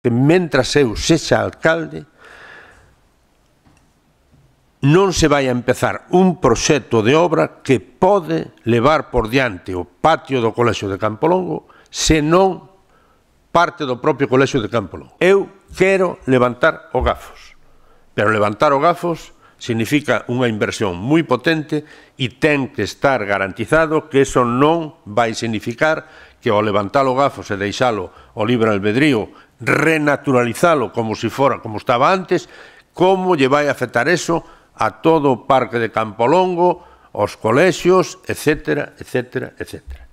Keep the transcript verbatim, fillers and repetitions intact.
que mentras eu sexa alcalde non se vai a empezar un proxecto de obra que pode levar por diante o patio do Colexio de Campolongo se non parte do propio Colexio de Campolongo. Eu quero levantar o Gafos, pero levantar o Gafos significa unha inversión moi potente e ten que estar garantizado que eso non vai significar que ao levantar o Gafos e deixalo o libre albedrío, renaturalizalo como si fora como estaba antes, como lle vai afectar eso a todo o parque de Campolongo, aos colexios, etcétera, etcétera, etcétera.